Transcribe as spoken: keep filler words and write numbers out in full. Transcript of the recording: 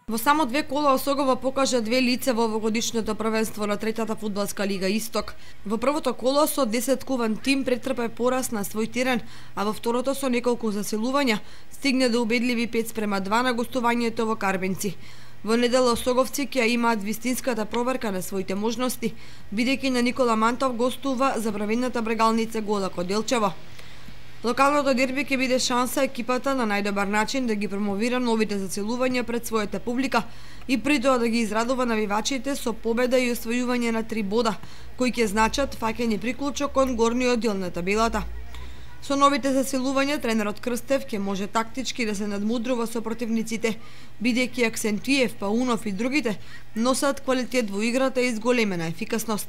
Во само две кола Осогова покажа две лица во овогодишното првенство на третата фудбалска лига Исток. Во првото коло со десеткуван тим претрпе пораз на свој терен, а во второто со неколку заселувања стигне до убедливи пет спрема два на гостувањето во Карбенци. Во недела осоговци ќе имаат вистинската проверка на своите можности, бидејќи на Никола Мантов гостува забравената брегалница Голако Делчево. Локалното дерби ќе биде шанса екипата на најдобар начин да ги промовира новите заселувања пред својата публика и при тоа да ги израдува навивачите со победа и освојување на три бода, кои ќе значат фаќање приклучок кон горниот дел на табелата. Со новите заселувања тренерот Крстев ќе може тактички да се надмудрува со противниците, бидејќи Аксентиев, Паунов и другите носат квалитет во играта и зголемена ефикасност.